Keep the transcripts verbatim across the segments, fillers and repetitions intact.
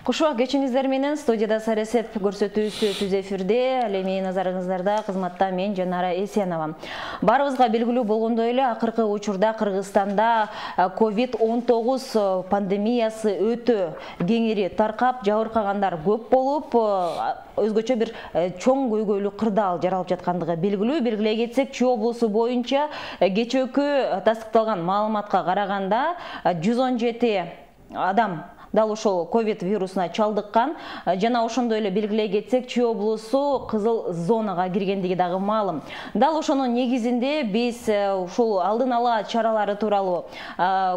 Кушуак кечиңиздер менен студияда Саресеп көрсөтүүсү түз эфирде. Ал эми назарыңыздарда кызматта мен Жанара Эсенова. Барыбызга белгилүү болгондой эле акыркы учурда Кыргызстанда ковид он тогуз пандемиясы өтө кеңири таркап, жабыркагандар көп болуп, өзгөчө бир чоң көйгөйлүү кырдаал жаралып жаткандыгы белгилүү. Белгилей кетсек, Чүй облусу боюнча кечээкү тастыкталган маалыматка караганда жүз он жети адам дал ушул ковид вирусуна чалдыккан. Жана ошондой эле белгилей кетсек, Чүй облусу кызыл зонага киргендиги дагы маалым. Дал ошонун негизинде биз ушул алдын ала чаралары тууралуу,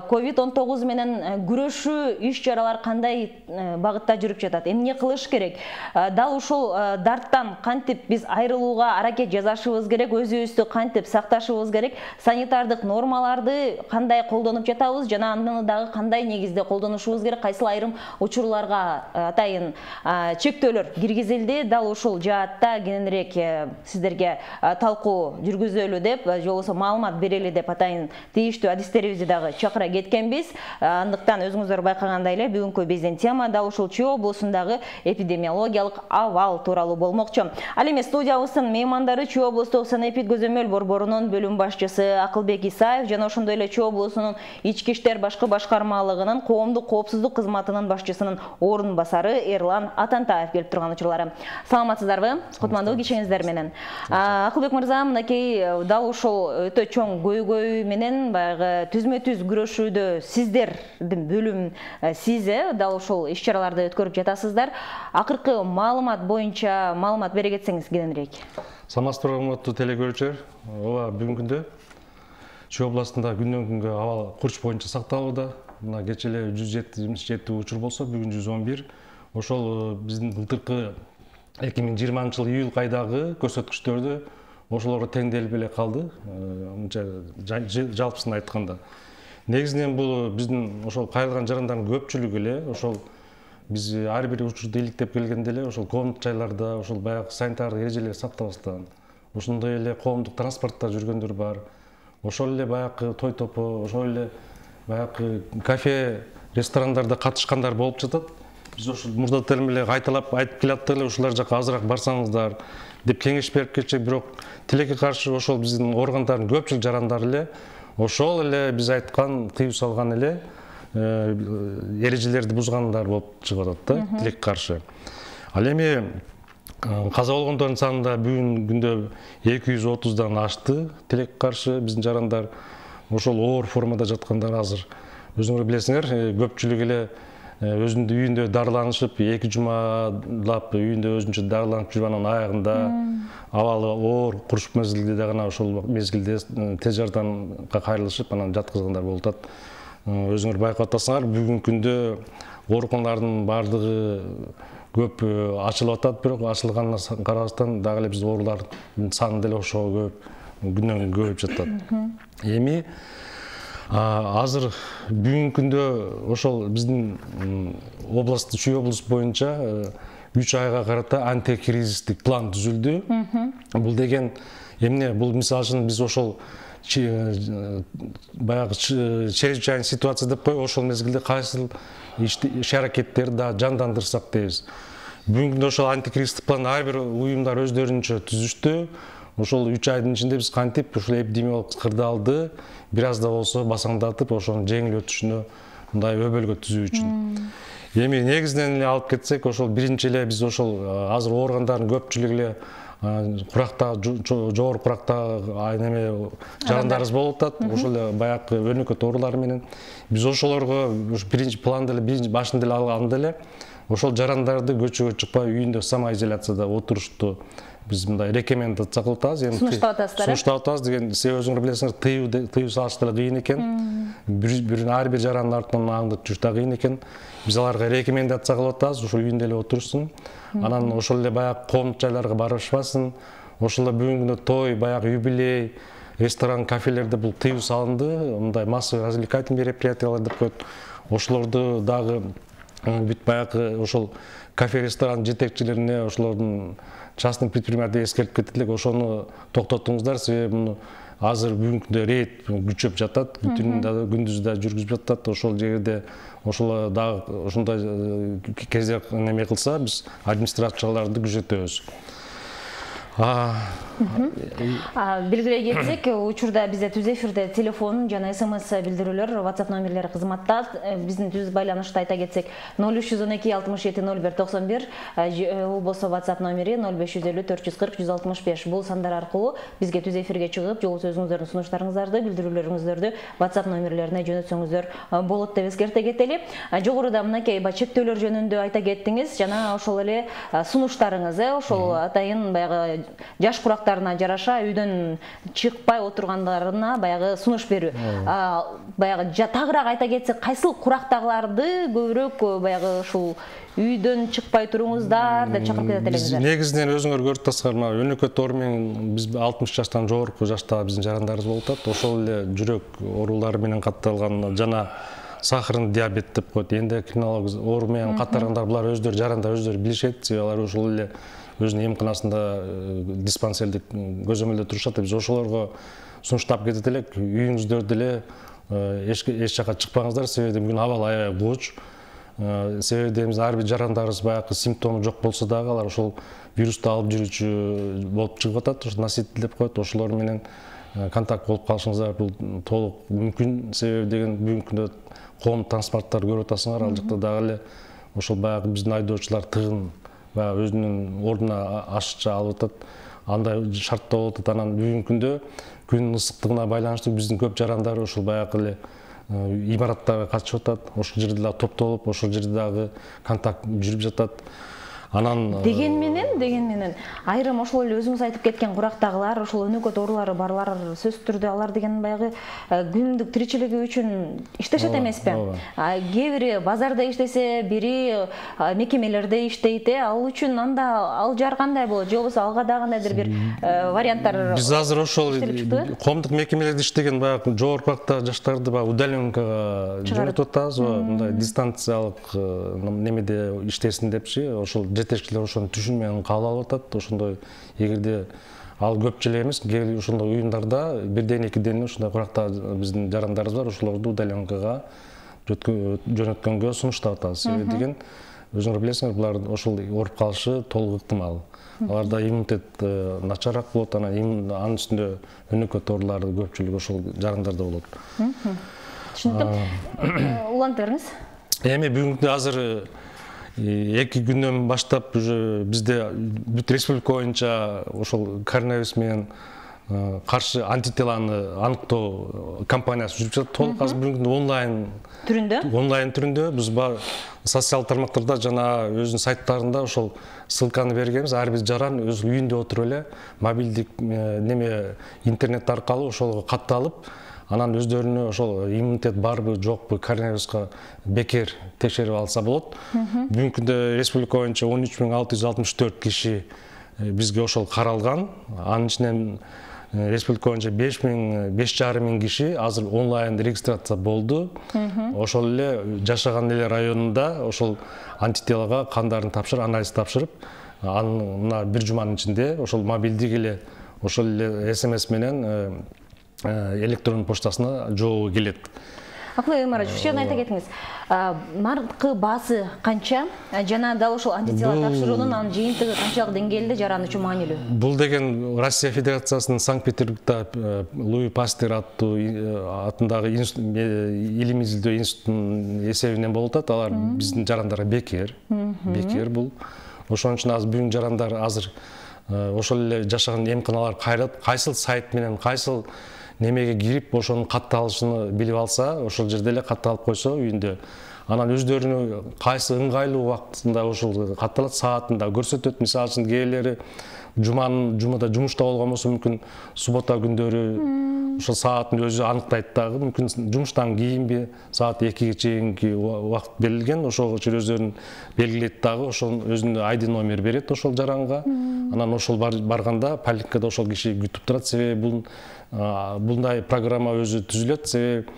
ковид он тогуз менен күрөшүү иш-чаралар кандай багытта жүрүп жатат, эмне кылыш керек, дал ушул дарттан кантип биз айрылууга аракет жасашыбыз керек, өзүбүздү кантип сакташыбыз керек, санитардык нормаларды кандай колдонуп жатабыз жана аны дагы кандай негизде колдонушубуз керек, кайсы айрым учурларга атайын чектөөлөр киргизилди. Дал ушул жаатта кененирээк сиздерге талкуу жүргүзөлү деп, же болбосо маалымат берели деп атайын тийиштүү адистерибизди дагы чакыра кеткенбиз. Андыктан өзүңүздөр байкагандай эле бүгүнкү биздин тема дал ушул Чүй облусундагы эпидемиологиялык абал тууралуу болмокчу. Ал эми студиябыздын меймандары Чүй облустук санэпид көзөмөл борборунун бөлүм башчысы Акылбек Исаев жана ошондой эле Чүй облусунун ички иштер башкы башкармалыгынын коомдук коопсуздук кызматынын башчысынын орун басары Эрлан Атантаев келип турган учурлары. Саламатсыздарбы? Кутмандуу кечиңиздер менен. Акылбек мырза, мынакей дал ушул өтө чоң көйгөй менен баягы түзмө-түз күрөшүүдө сиздердин бөлүм сиз дал ушул иш-чараларды өткөрүп жатасыздар. Акыркы маалымат боюнча маалымат бере кетсеңиз кененирээк. Саламатсыздарбы, урматтуу телекөрүүчүлөр. Ооба, бүгүнкү күндө Чүй областында күндөн күнгө абал курч боюнча сакталууда. Мына кечээ эле жүз жетимиш жети учур болсо, бүгүн жүз он бир. Ошол биздин былтыркы эки миң жыйырманчы жыл июль айдагы көрсөткүчтөрдү ошолорго теңделип эле калды. Мынча жалпысын айтканда. Негизинен бул биздин ошол кайрылган жарандардын көпчүлүгү эле ошол биз ар бир учурду иликтеп келгенде эле ошол коомдук жайларда ошол баягы санитардык эрежелерди сактабастан, ошондой эле коомдук транспортто жүргөндөр бар. Ошол эле баягы той топо, ошол эле баягы кафе, ресторандарда катышкандар болуп жатат. Биз ошол мурдатан эле кайталап айтып келаттык эле ушулар жака азыраак барсаңыздар деп кеңеш берип кетчүк, бирок тилекке каршы ошол биздин органдардын көпчүлүк жарандары эле ошол эле биз айткан, тыюу салган эле эрежелерди бузгандар болуп чыгып атат да, тилекке каршы. Ал эми каза болгондордун саны да бүгүнкү күндө эки жүз отуздан ашты. Тилекке каршы биздин жарандар ошол оор формада жаткандар азыр. Өзүңөр билесиңер, көпчүлүк эле өзүнүн үйүндө дарыланышып, эки жумалап үйүндө өзүнчө дарыланып жүрүп, анын аягында абалы оор курчук мезгилде дагы ошол мезгилде тез жардамга кайрылышып, анан жаткызгандар болуп атат. Өзүңөр байкап атасыңар, бүгүнкү күндө ооруканалардын баардыгы көп ачылып атат, бирок ачылганына карабастан дагы эле биз оорулардын саны деле ошого көп, күндөн күнгө көбөйүп жатат. Эми азыр бүгүнкү күндө ошол биздин област, Чүй облус боюнча үч айга карата антикризистик план түзүлдү. Бул деген эмне? Бул мисалы үчүн биз ошол баягы чрезвычайный ситуация деп коюп, ошол мезгилде кайсыл иш аракеттерди да жандандырсак дейбиз. Бүгүнкү күндө ошол антикризистик план ар бир уюмдар өздөрүнчө түзүштү. Ошол үч айдын ичинде биз кантип ушул эпидемиологик кырдаалды бир аз да болсо басаңдатып, ошонун жеңил өтүшүнө мындай өбөлгө түзүү үчүн. Эми негизинен эле алып кетсек, ошол биринчи эле биз ошол азыр ооргандардын көпчүлүгү эле куракта, жогору куракта неме жарандарыбыз болуп атат. Ошол эле баягы өнөкөт оорулар менен биз ошолорго биринчи планда эле биринчи башында эле алганда эле ошол жарандарды көчөгө чыкпай үйүндө самоизоляцияда отурушту биз мындай рекомендация кылып атабыз. Эми сунуштап атасыздар. Сунуштап атабыз деген себеби өзүңөр билесиңер, тыюу тыюу салыш деле кыйын экен. Бир ар бир жарандын артынан аңдып жүрүш да кыйын экен. Биз аларга рекомендация кылып атабыз, ошол үйүндө эле отурушсун. Анан ошол эле баягы коомдук жайларга барышпасын. Ошол эле бүгүнкү күндө той, баягы юбилей, ресторан, кафелерде бул тыюу салынды. Мындай массовый развлекательный мероприятиялар деп коет. Ошолорду дагы бүт баягы ошол кафе, ресторан жетекчилерине ошолордун частный предприниматель эскертип кетет элек, ошону токтотуңуздар, себеби муну азыр бүгүнкү күндө рейд күчөп жатат, түнүн да күндүз да жүргүзүп жатат. Ошол жерде ошол дагы ошондой кезде неме кылса, биз администрацияларды күзөтөбүз. Белгилей кетсек, учурда бизде түз эфирде телефон жана смс билдирүүлөр, WhatsApp номерлери кызматта. Биздин түз байланышты айта кетсек ноль үч жүз он эки алтымыш жети ноль бир токсон бир, у болсо WhatsApp номери ноль беш жүз элүү төрт жүз кырк жүз алтымыш беш. Бул сандар аркылуу бизге түз эфирге чыгып, жолу сөзүңүздөрдүн сунуштарыңыздарды, билдирүүлөрүңүздөрдү WhatsApp номерлерине жөнөтсөңүздөр болот деп эскерте кетели. Жогоруда мынакей чектөөлөр жөнүндө айта кеттиңиз, жана ошол эле сунуштарыңыз, ошол атайын баягы жаш курактарына жараша үйдөн чыкпай отургандарына баягы сунуш берүү. Баягы тагыраак айта кетсек, кайсыл курактагыларды көбүрөөк баягы ушул үйдөн чыкпай туруңуздар деп чакырып кетет элеңиздер? Негизинен өзүңөр көрүп атасыздар, мына өнөкөт оору менен биз алтымыш жаштан жогорку жаштагы биздин жарандарыбыз болуп атат. Ошол эле жүрөк оорулары менен катталган жана сахарный диабет деп коет, эндокринология оору менен катталгандар, булар өздөрү жарандар өздөрү билишет, себеби алар ошол эле өзүнүн эмканасында диспансердик көзөмөлдө турушат. Биз ошолорго сунуштап кетет элек, үйүңүздөрдө эле эч жака чыкпаңыздар, себеби бүгүн абал аябай кууч. Себеби ар бир жарандарыбыз баягы симптому жок болсо дагы алар ошол вирусту алып жүрүүчү болуп чыгып атат, ошо носитель деп коет. Ошолор менен контакт болуп калышыңыздар бул толук мүмкүн, себеби деген бүгүнкү күндө коомдук транспорттарды көрүп атасыңар, ал жакта дагы эле ошол баягы биздин айдоочулар тыгын баягы өзүнүн ордуна ашыкча алып атат, андай шартта болуп атат. Анан бүгүнкү күндө күндүн ысыктыгына байланыштуу биздин көп жарандар ошол баягы эле имараттарга катышып атат, ошол жерде дагы топтолуп, ошол жерде дагы контакт жүрүп жатат. Анан деген менен деген менен айрым ошол эле өзүңүз айтып кеткен курактагылар, ошол өнөкөт оорулары барлар сөзсүз түрдө алар деген баягы күндүк тиричилиги үчүн иштешет эмеспи? Кээ бири базарда иштесе, бири мекемелерде иштейт, ал үчүн анда ал жар кандай болот? Же болбосо алга дагы кандайдыр бир варианттар? Биз азыр ошол коомдук мекемелерде иштеген баягы жогорку жаштарды баягы удаленкага жөнөтүп атабыз, мындай дистанциялык немеде иштесин депчи, ошол жетекчилер ошонун түшүнү менен кабыл алып атат. Ошондой эгерде ал көп деле эмес, кээ ошондой уюмдарда бирден экиден ушундай куракта биздин жарандарыбыз бар, ошолорду удаленкага жөнөткөнгө сунуштап атабыз. Себеби деген өзүңөр билесиңер, булар ошол ооруп калышы толук ыктымал. Аларда иммунитет начараак болот, анан анын үстүндө өнөкөт оорулары көпчүлүгү ошол жарандарда болот. Түшүндүм. Улантып бериңиз. Эми бүгүнкү азыр эки күндөн баштап уже бизде бүт республика боюнча ошол коронавирус менен каршы антителаны аныктоо кампаниясы жүрүп жатат. Толук азыр бүгүнкү онлайн түрүндө онлайн түрүндө биз социалдык тармактарда жана өзүнүн сайттарында ошол ссылканы бергенбиз. Ар бир жаран өз үйүндө отуруп эле мобилдик неме интернет аркылуу ошолго катталып, анан өздөрүнө ошол иммунитет барбы жокпу, коронавируска бекер текшерип алса болот. Бүгүнкү күндө республика боюнча он үч миң алты жүз алтымыш төрт киши бизге ошол каралган. Анын ичинен республика боюнча беш миң беш жарым миң киши азыр онлайн регистрация болду. Ошол эле жашаган эле районунда ошол антителага кандарын тапшырып, анализ тапшырып, анын мына бир жуманын ичинде ошол мобилдик эле ошол эле смс менен электронун почтасына жообу келет. Акылбек Эмарович, ушуну айта кетиңиз. Наркы баасы канча жана дал ошол антитела тапшыруунун анын жыйынтыгы канчалык деңгээлде жаран үчүн маанилүү? Бул деген Россия Федерациясынын Санкт-Петербургда Луи Пастер аттуу атындагы илимий изилдөө институтунун эсебинен болуп атат. Алар биздин жарандарга бекер. Бекер бул. Ошон үчүн азыр бүгүн жарандар азыр ошол эле жашаган эмканалар кайрат, кайсыл сайт менен, кайсыл немеге кирип ошонун катталышын билип алса, ошол жерде эле катталып койсо үйүндө, анан өздөрүнө кайсы ыңгайлуу убактында ошол катталат, саатында көрсөтөт. Мисалы үчүн кээлери жуманын жумада жумушта болгон болсо мүмкүн суббота күндөрү ошол саатын өзү аныктайт дагы. Мүмкүн жумуштан кийинби саат экиге чейинки убакыт берилген, ошого чейин өздөрүн белгилейт дагы, ошол өзүнүн ай ди номер берет ошол жаранга. Анан ошол барганда поликлиникада ошол киши күтүп турат. Себеби бул мындай программа өзү түзүлөт. Себеби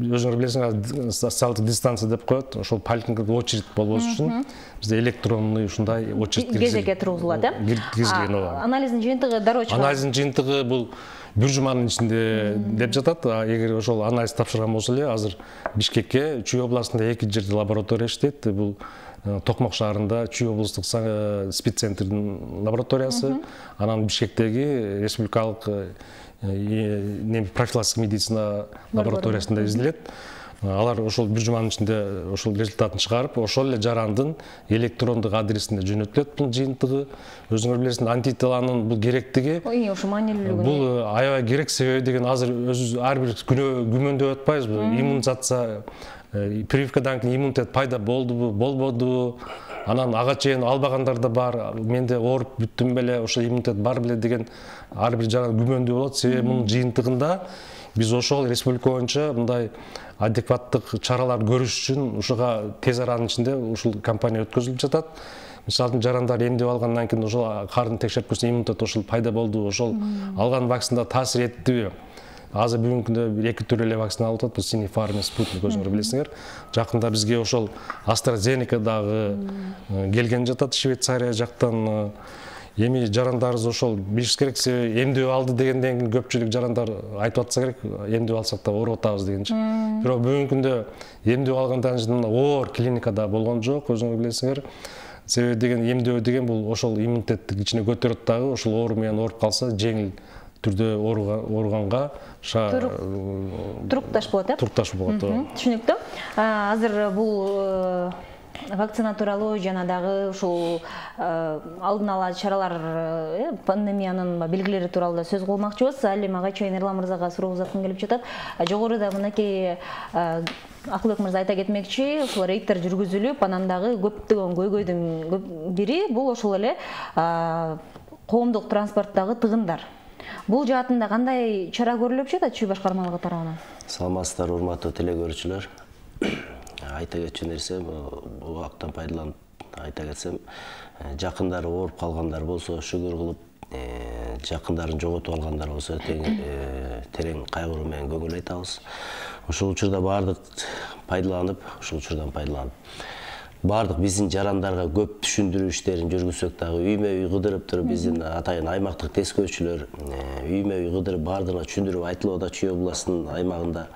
өзүңөр билесиңер, социалдык дистанция деп коет. Ошол поликлиникада очередь болбош үчүн бизде электронный ушундай очередь кезекке тургузулат, э? киргизген. Анализдин жыйынтыгы дароо чыгат. Анализдин жыйынтыгы бул бир жуманын ичинде деп жатат. Эгер ошол анализ тапшырган болсо эле, азыр Бишкекке Чүй областында эки жерде лаборатория иштейт. Бул Токмок шаарында Чүй облустук спеццентрдин лабораториясы, анан Бишкектеги республикалык профилактика медицина лабораториясында изделет. Алар ошол бир жуманын ичинде ошол результатын чыгарып, ошол эле жарандын электрондук адресине жөнөтүлөт бул жыйынтыгы. Өзүңөр билесиңер, антителанын бул керектиги. Ой, ошо маанилүүлүгү. Бул аябай керек, себеби деген азыр өзүбүз ар бир күнөө күмөндөп атпайбызбы? Иммунизация, прививкадан кийин иммунитет пайда болдубу, болбодубу? Анан ага чейин албагандар да бар. Менде ооруп бүттүм беле, ошо иммунитет бар беле деген ар бир жаран күмөндүү болот. Себеби мунун жыйынтыгында биз ошол республика боюнча мындай адекваттык чаралар көрүш үчүн ушуга тез аранын ичинде ушул кампания өткөзүлүп жатат. Мисалы жарандар эмдеп алгандан кийин ошол карын текшерип көрсө иммунитет ошол пайда болду, ошол алган вакцина таасир эттиби? Азыр бүгүнкү күндө бир эки түр эле вакцина алып атат, бул Sinopharm, Sputnik, өзүңөр билесиңер. Жакында бизге ошол AstraZeneca дагы келген жатат Швейцария жактан. Эми жарандарыбыз ошол билиш керек, себеби эмдөө алды дегенден кийин көпчүлүк жарандар айтып атса керек, эмдөө алсак да ооруп атабыз дегенчи. Бирок бүгүнкү күндө эмдөө алгандан кийин оор клиникада болгон жок, өзүңөр билесиңер. Себеби деген эмдөө деген бул ошол иммунитетти ичине көтөрөт дагы, ошол оору менен ооруп калса жеңил түрдө ооруганга турукташ болот, э? Турукташ болот. Түшүнүктүү. Азыр бул вакцина тууралуу жана дагы ушул алдын ала чаралар, пандемиянын белгилери тууралуу да сөз кылмакчыбыз. Ал эми ага чейин Эрлан мырзага суроо узаткым келип жатат. Жогоруда мынакей Акылбек мырза айта кетмекчи, ушул рейдтер жүргүзүлүп, анан дагы көптөгөн көйгөйдүн бири бул ошол эле коомдук транспорттагы тыгындар. Бул жаатында кандай чара көрүлүп жатат Чүй башкармалыгы тарабынан? Саламатсыздар, урматтуу телекөрүүчүлөр. Айта кетчү нерсе, бул убакыттан пайдаланып айта кетсем, жакындары ооруп калгандар болсо, шүгүр кылып, жакындарын жоготуп алгандар болсо, терең кайгыруу менен көңүл айтабыз. Ушул учурда баардык пайдаланып, ушул учурдан пайдаланып, баардык биздин жарандарга көп түшүндүрүү иштерин жүргүзсөк дагы, үймө-үй кыдырып туруп биздин атайын аймактык тескөөчүлөр үймө-үй кыдырып баардыгына түшүндүрүп айтылып атат Чүй областынын аймагында.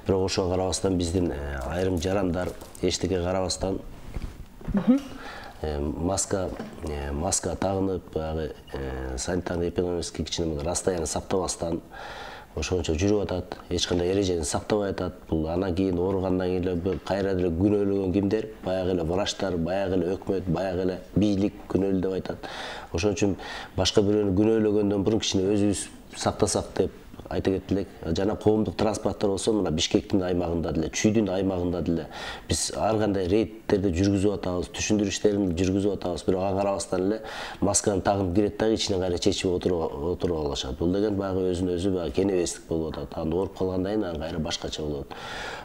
Бирок ошого карабастан биздин айрым жарандар эчтеке карабастан маска маска тагынып, баягы санитарно-эпидемиологический кичине расстояние сактабастан ошончо жүрүп атат, эч кандай эрежени сактабай атат. Бул анан кийин ооругандан кийин эле кайра деле күнөөлөгөн кимдер? Баягы эле врачтар, баягы эле өкмөт, баягы эле бийлик күнөөлүү деп айтат. Ошон үчүн башка бирөөнү күнөөлөгөндөн мурун кичине өзүбүз сактасак деп айта кетелек. Жана коомдук транспорттор болсо, мына Бишкектин аймагында деле, Чүйдүн аймагында деле биз ар кандай рейдтерди жүргүзүп атабыз, түшүндүрүү иштерин жүргүзүп атабыз. Бирок ага карабастан эле масканы тагып кирет дагы ичине кайра чечип отуруп алышат. Бул деген баягы өзүнө өзү баягы кенебестик болуп атат. Анан ооруп калгандан кийин анан кайра башкача болот.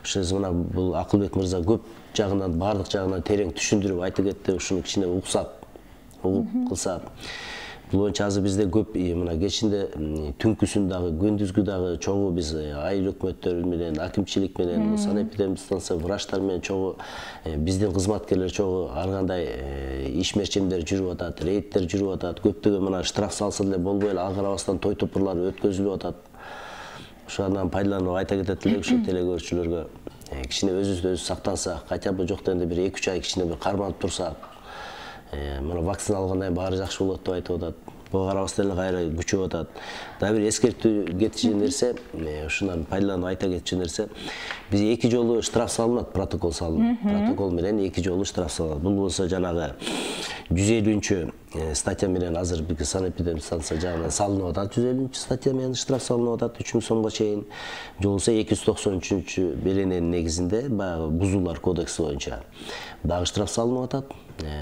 Ошол мына бул Акылбек мырза көп жагынан, баардык жагынан терең түшүндүрүп айта кетти. Ушуну кичине уксак, угуп кылса. Бул боюнча азыр бизде көп мына кечинде түнкүсүн дагы, күндүзгү дагы чогуу биз айыл өкмөттөр менен, акимчилик менен, санэпидемия станция врачтар менен чогуу биздин кызматкерлер чогуу ар кандай иш мерчемдер жүрүп атат, рейдтер жүрүп атат. Көптөгөн мына штраф салса деле болбой эле, ага карабастан той топурлар өткөзүлүп атат. Ошондон пайдаланып айта кетет элек ушу телекөрүүчүлөргө кичине өзүбүздү өзү сактансак, хотя бы жок дегенде бир эки үч ай кичине бир карманып турсак, мына вакцина алгандан кийин баары жакшы болот деп айтып атат. Буга карабастан эле кайра күчөп атат. Дагы бир эскертүү кетчү нерсе, ушундан пайдаланып айта кетчү нерсе, биз эки жолу штраф салынат, протокол салынат. Протокол менен эки жолу штраф салынат. Бул болсо жанагы жүз элүүнчү статья менен азыр бизге санэпидемия станция жагынан салынып атат. жүз элүүнчү статья менен штраф салынып атат үч миң сомго чейин. Же болбосо эки жүз токсон үчүнчү берененин негизинде баягы бузуулар кодекси боюнча дагы штраф салынып атат.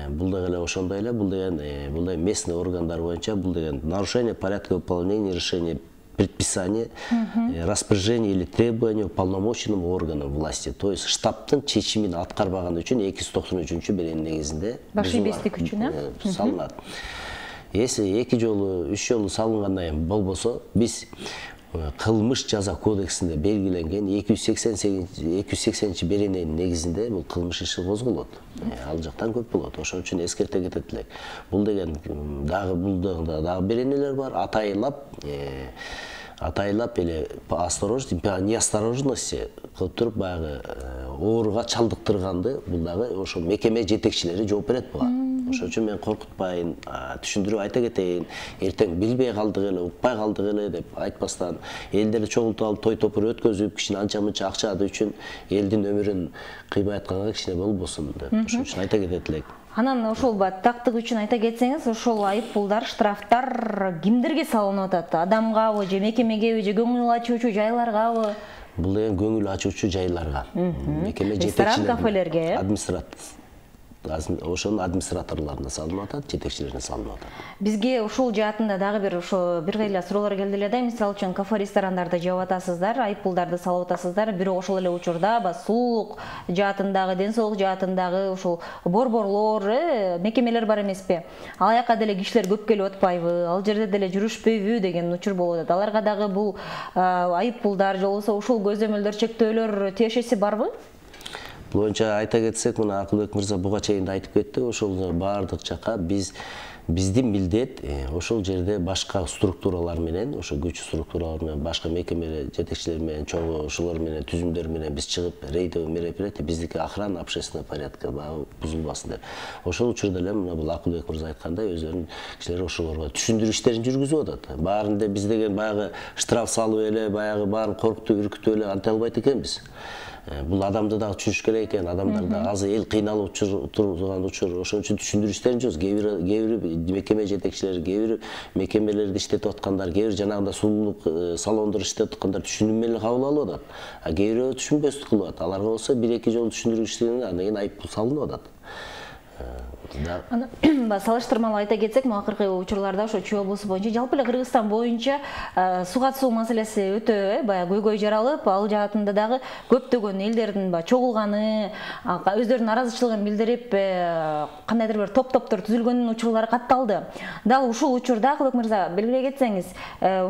Бул деген эле ошондой эле, бул деген бул деген местный органдар боюнча, бул деген нарушение порядка выполнения решения предписания, распоряжения или требования уполномоченным органам власти. То есть штабтын чечимин аткарбаган үчүн эки жүз токсон үчүнчү берененин негизинде башибестик үчүн салынат. Если эки жолу, үч жолу салынгандан кийин болбосо, биз кылмыш жаза кодексинде белгиленген эки жүз сексенинчи берененин негизинде бул кылмыш иши козголот. Ал жактан көп болот. Ошон үчүн эскерте кетет элек. Бул деген дагы бул дагы беренелер бар, атайылап атайлап эле осторожность, неосторожность кылып туруп баягы ооруга чалдыктырганды бул дагы ошо мекеме жетекчилери жооп берет буга. Ошон үчүн мен коркутпайын, түшүндүрүп айта кетейин. Эртең билбей калдык эле, укпай калдык эле деп айтпастан, элдерди чогултуп алып той топур өткөзүп, кичине анча-мынча акча үчүн элдин өмүрүн кыйбай атканга кичине болбосун деп. Ошон үчүн айта кетет элек. Анан ошол тактык үчүн айта кетсеңиз, ошол айып пулдар, штрафтар кимдерге салынып атат? Адамгабы, же мекемегеби, же көңүл ачуучу жайларгабы? Бул деген көңүл ачуучу жайларга. Мекеме жетекчилери, кафелерге, администрат ошонун администраторлоруна салынып атат, жетекчилерине салынып атат. Бизге ушул жаатында дагы бир ошо бир кайла суроолор келди эле да. Мисалы үчүн кафе ресторандарда жеп атасыздар, айып пулдарды салып атасыздар. Бирок ошол эле учурда сулук жаатындагы, ден соолук жаатындагы ушул борборлор, мекемелер бар эмеспи? Ал жака деле кишилер көп келип атпайбы? Ал жерде деле жүрүшпөйбү деген учур болуп атат. Аларга дагы бул айып пулдар же болбосо ушул көзөмөлдөр, чектөөлөр тиешеси барбы? Бул боюнча айта кетсек, мына Акылбек мырза буга чейин айтып кетти, ошол баардык жака биз биздин милдет ошол жерде башка структуралар менен, ошо күч структуралар менен, башка мекеме жетекчилери менен, чогуу ошолор менен, түзүмдөр менен биз чыгып рейдовый мероприятие, биздики охрана общественного порядка бузулбасын деп. Ошол учурда эле мына бул Акылбек мырза айткандай өздөрүнүн кишилери ошолорго түшүндүрүү иштерин жүргүзүп атат. Баарында биз деген баягы штраф салып эле, баягы баарын коркутуп, үркүтүп эле анта албайт экенбиз. Бул адамды дагы түшүнүш керек экен, адамдар да азыр эл кыйналып турган учур. Ошон үчүн түшүндүрүү иштерин жүргүзөбүз. Кээ бир мекеме жетекчилери, кээ бир мекемелерди иштетип аткандар, кээ бир жанагындай сулуулук салондор иштетип аткандар түшүнүү менен кабыл алып атат. А кээ бирөө түшүнбөстүк кылып атат. Аларга болсо бир эки жолу түшүндүрүү иштегенден андан кийин айып пул салынып атат. Салыштырмалуу айта кетсек, акыркы учурларда ошо Чүй облусу боюнча, жалпы эле Кыргызстан боюнча суга суу маселеси өтө баягы көйгөй жаралып, ал жаатында дагы көптөгөн элдердин чогулганы, өздөрүнүн наразычылыгын билдирип, кандайдыр бир топ-топтор түзүлгөнүн учурлары катталды. Дал ушул учурда Акылбек мырза белгилей кетсеңиз,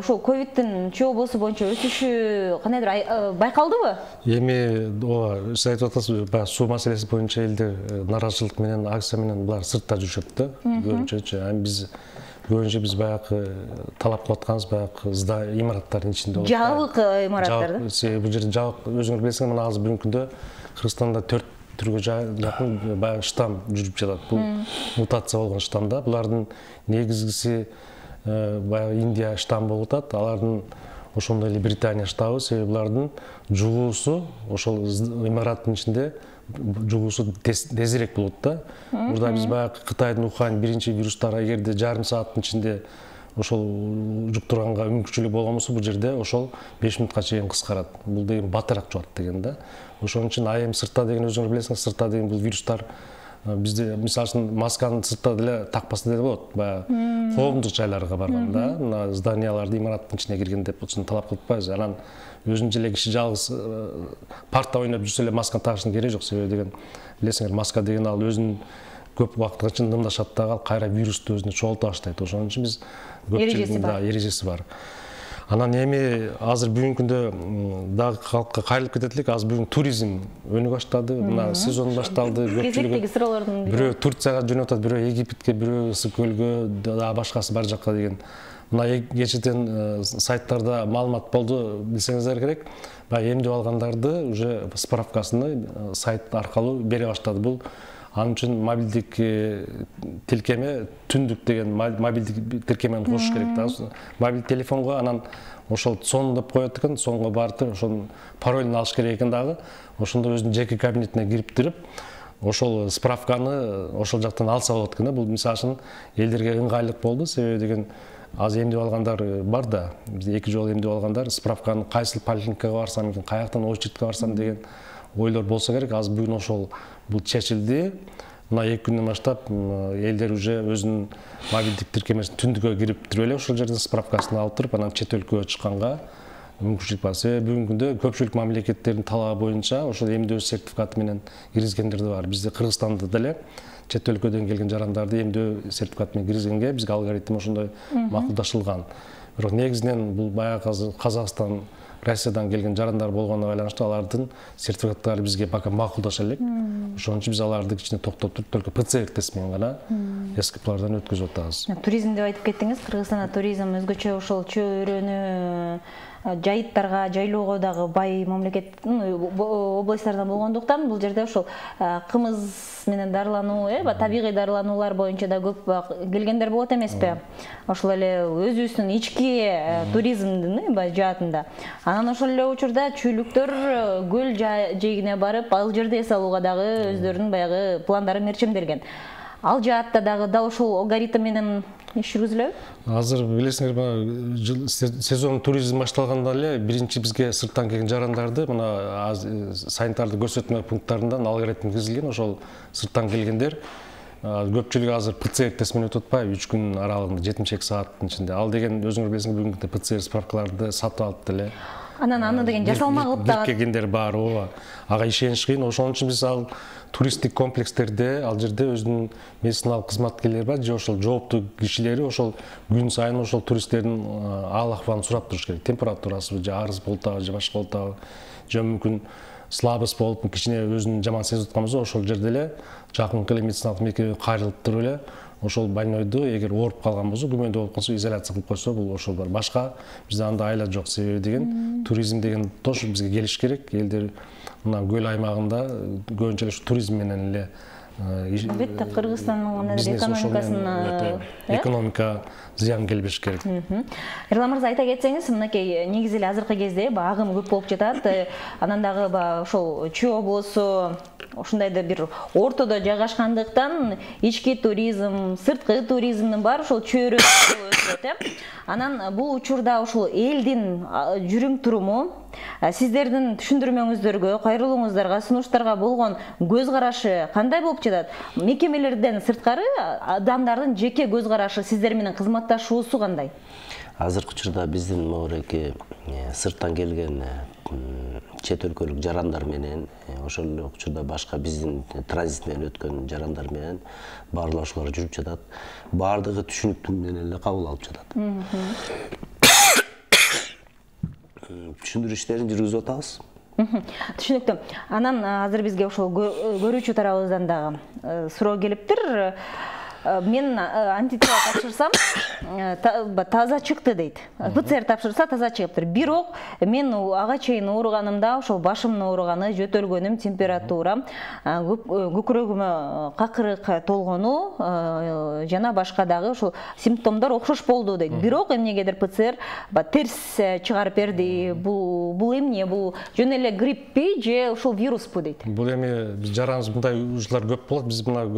ушул ковидтин Чүй облусу боюнча өсүшү кандайдыр байкалдыбы? Эми ооба, сиз айтып атасыз, баягы суу маселеси боюнча элдер наразычылык менен, акция менен булар сыртта жүрүшөт да, көбүнчө. Эми биз көбүнчө биз баягы талап кылып атканыбыз баягы имараттардын ичинде болот. Жабык имараттар да. Себеби бул жерде жабык, өзүңөр билесиңер, мына азыр бүгүнкү күндө Кыргызстанда төрт түргө жакын баягы штамм жүрүп жатат. Бул мутация болгон штамм да. Булардын негизгиси баягы Индия штамм болуп атат. Алардын ошондой эле Британия штабы, себеби булардын жугуусу ошол имараттын ичинде жугуусу тезирээк болот да. Мурда биз баягы Кытайдын Ухань биринчи вирустар эгерде жарым сааттын ичинде ошол жуктурганга мүмкүнчүлүк болгон болсо, бул жерде ошол беш мүнөткө чейин кыскарат. Бул деген батыраак жугат деген да. Ошон үчүн а эми сыртта деген өзүңөр билесиңер, сыртта деген бул вирустар бизде мисалы үчүн масканы сыртта деле такпаса деле болот. Баягы коомдук жайларга барганда, мына зданияларды, имараттын ичине кирген деп болсун талап кылып атпайбыз. Анан өзүнчө эле киши жалгыз парта ойноп жүрсө эле масканы тагыштын кереги жок. Себеби деген билесиңер, маска деген ал өзүнүн көп убакытка чейин дымдашат дагы, ал кайра вирусту өзүнө чогулта баштайт. Ошон үчүн биз эрежеси эрежеси бар. Анан эми азыр бүгүнкү күндө дагы калкка кайрылып кетет элек. Азыр бүгүн туризм өнү баштады. Мына сезон башталды. Кезектеги суроолордун бирөө Турцияга жөнөп атат, бирөө Египетке, бирөө Ысык көлгө, дагы башкасы бар жакка деген. Мына кечээден сайттарда маалымат болду, билсеңиздер керек. Баягы эмдеп алгандарды уже справкасыны сайт аркылуу бере баштады. Бул анын үчүн мобилдик тилкеме, түндүк деген мобилдик тилкемени кошуш керек да. Мобилдик телефонго анан ошол сон деп коет экен, сонго барып ошонун паролун алыш керек экен дагы. Ошондо өзүнүн жеке кабинетине кирип туруп, ошол справканы ошол жактан алса болот экен да. Бул мисалы үчүн элдерге ыңгайлык болду, себеби деген азыр эмдеп алгандар бар да. Бизде эки жолу эмдеп алгандар справканы кайсыл поликлиникага барсам экен, каяктан очередке барсам деген ойлор болсо керек. Азыр бүгүн ошол бул чечилди. Мына эки күндөн баштап элдер уже өзүнүн мобилдик тиркемесин түндүккө кирип туруп эле ошол жерден справкасын алып туруп, анан чет өлкөгө чыкканга мүмкүнчүлүк бар. Себеби бүгүнкү күндө көпчүлүк мамлекеттердин талабы боюнча ошол эмдөө сертификаты менен киргизгендер да бар. Бизде Кыргызстанда деле чет өлкөдөн келген жарандарды эмдөө сертификаты менен киргизгенге бизге алгоритм ошондой макулдашылган. Бирок негизинен бул баягы Казакстан Россиядан келген жарандар болгонуна байланыштуу алардын сертификаттары бизге пока макулдаша элек. Ошон үчүн биз аларды кичине токтоп туруп, только ПЦР тест менен гана эскиплардан өткөзүп атабыз. Туризм деп айтып кеттиңиз. Кыргызстанда туризм өзгөчө ошол чөйрөнү жайыттарга, жайлоого дагы бай мамлекет областтардан болгондуктан бул жерде ошол кымыз менен дарылануу, э, табигый дарылануулар боюнча да көп келгендер болот эмеспи? Ошол эле өзүбүздүн ички туризмдин жаатында. Анан ошол эле учурда чүйлүктөр көл жээгине барып, ал жерде эс алууга дагы өздөрүнүн баягы пландары мерчемделген. Ал жаатта дагы дал ошол алгоритм менен иш жүргүзүлөбү? Азыр билесиңер, сезон туризм башталганда эле биринчи бизге сырттан келген жарандарды мына санитардык көрсөтмө пункттарынан алгоритм киргизилген. Ошол сырттан келгендер көпчүлүгү азыр ПЦР тест менен өтүп атпайбы, үч күн аралыгында жетимиш эки сааттын ичинде. Ал деген өзүңөр билесиңер, бүгүнкү ПЦР справкаларды сатып алып деле. Анан аны деген жасалма кылып да келгендер бар, ооба. Ага ишениш кыйын. Ошон үчүн биз ал туристтик комплекстерде, ал жерде өзүнүн медициналык кызматкерлери бар, же ошол жооптуу кишилери ошол күн сайын ошол туристтердин аал акыбалын сурап туруш керек. Температурасы же арыз болуп атабы, же башка болуп атабы, же мүмкүн слабость болуп, кичине өзүн жаман сезип аткан болсо, ошол жерде эле жакынкы эле медициналык мекемеге кайрылып туруп эле ошол больнойду эгер ооруп калган болсо, күмөндүү болуп калса изоляция кылып койсо, бул ошол бар. Башка бизде анда айла жок. Себеби деген туризм деген тош бизге келиш керек. Элдер мына көл аймагында көбүнчө эле туризм менен эле албетте Кыргызстандын экономикасына экономика зыян келбеш керек. Эрлан мырза, айта кетсеңиз, мынакей негизи эле азыркы кезде агым көп болуп жатат. Анан дагы ошол Чүй облусу ушундайда бир ортодо жайгашкандыктан ички туризм, сырткы туризмдин баары ошол чөйрөсү өтөт, э. Анан бул учурда ошол элдин жүрүм туруму, сиздердин түшүндүрмөңүздөргө, кайрылууңуздарга, сунуштарга болгон көз карашы кандай болуп жатат? Мекемелерден сырткары адамдардын жеке көз карашы, сиздер менен кызматташуусу кандай? Азыркы учурда биздин могуреки сырттан келген чет өлкөлүк жарандар менен, ошол эле учурда башка биздин транзит менен өткөн жарандар менен баарлашуулар жүрүп жатат. Баардыгы түшүнүктүү менен эле кабыл алып жатат. Түшүндүрүү иштерин жүргүзүп атабыз. Түшүнүктүү. Анан азыр бизге ошол көрүүчү тарабыбыздан дагы суроо келиптир. Мен антитела тапшырсам, таза чыкты дейт. ПЦР тапшырса таза чыгыптыр. Бирок мен ага чейин ооруганымда ошол башымдын ооруганы, жөтөлгөнүм, температурам, көкүрөгүмө какырык толгону жана башка дагы ошол симптомдор окшош болду дейт. Бирок эмнегедир ПЦР терс чыгарып берди. Бул эмне? Бул жөн эле гриппи же ошол вируспу дейт. Бул эми биз жараныбыз мындай ушулар көп болот. Биз мына